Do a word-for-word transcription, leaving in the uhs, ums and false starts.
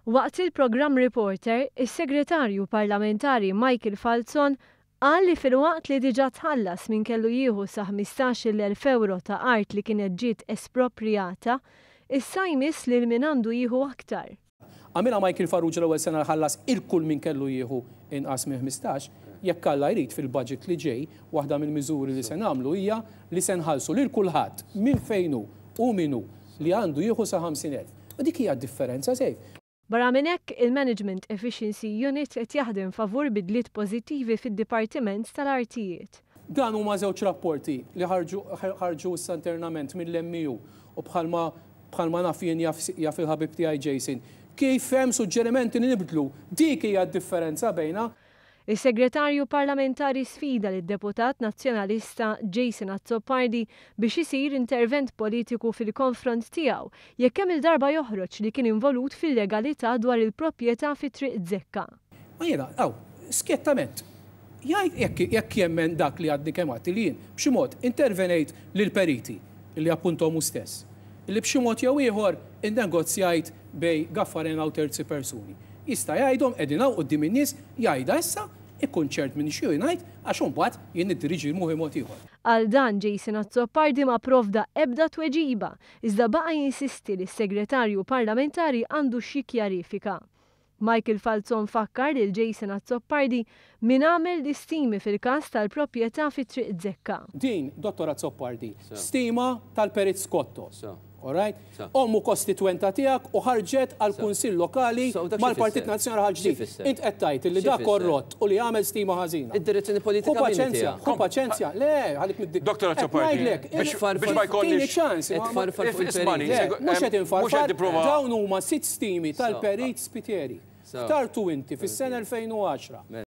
Waqt il-programm Reporter, is-Segretarju Parlamentari Michael Falzon qal li filwaqt li diġà tħallas min kellu jieħu sa ħmistax-il elf ewro ta' art li kienet ġiet esproprjata, issa jmiss lil min għandu jieħu aktar. Għamilha Michael Farrugia l-ewwel sena ħallas il-kull min kellu jieħu inqas minn ħmistax, jekk Alla jrid fil-budget li ġej, waħda mill-miżuri li se nagħmlu hija li se nħallsu lil kulħadd minn fejn hu u min hu li għandu jieħu sa ħamsin elf. U dik hija d-differenza sejf. Barra minn hekk, il-Management Efficiency Unit qed jaħdem favur bidliet pożittivi fid-Dipartiment tal-Artijiet. Dan huma żewġ rapporti li ħarġu issa internament mill-M E U u bħalma, bħalma naf jien jaf, jaf il-ħabib tiegħi Jason. Kif hemm suġġerimenti li nibdlu, dik hija d-differenza bejna. Is-Segretarju Parlamentari sfida lid-deputat nazzjonalista Jason Azzopardi biex isir intervent politiku fil-konfront tiegħu jekk hemm il-darba joħroġ li kien involut fil-legalità dwar il-proprjetà fi Triq Zekka. Ma jiena, aw, skjettament, jgħid jekk, jekk jemmen dak li għadni kemm għadti li jien b'xi mod intervenejt lill-periti li appuntom hu stess, li b'xi mod jew ieħor innegozjajt bej Gaffarena u terzi persuni. Jista' jgħidhom qegħdin hawn quddiem in-nies, jgħidha issa, ikun ċert minn xi ngħid għax imbagħad jien niddiriġi moħi mod ieħor. Għal dan Jason Azzopardi ma provda ebda tweġiba, iżda baqa' jinsisti li s-segretarju parlamentari għandu xi kjarifika. Michael Falzon fakkar lil Jason Azzopardi min għamel l-istimi fil-każ tal-proprjetà fi Triq Zekka. Din, Dottor Azzopardi, So. stima tal-Perit Scotto. So. All right? So. Ommu kostitwenta tiegħek u ħarġet għal So. Kunsill Lokali So, dak xi mal-Partit fisser? Nazzjonali ħaġ Xi ġdid. fisser? Int qed tgħid li Xi dak fisser? korrott u li għamel stima ħażina. Id-direzzjoni politika Hu min paċenzja, tiegħek? hu paċenzja. Le, ħalik mid-dik. Doktor Qed Azzopardi, ngħidlek, biex il- biex ma jkollniex Tieni ċans, Qed ma- tfarfar fuq Ismani, il-perit. Le, segu- mhux qed em, infarfar, mhux qed nipprova- dawn huma sitt stimi So. tal-Perit Spiteri. So. Ftartu inti fis-sena elfejn u għaxra. Mela.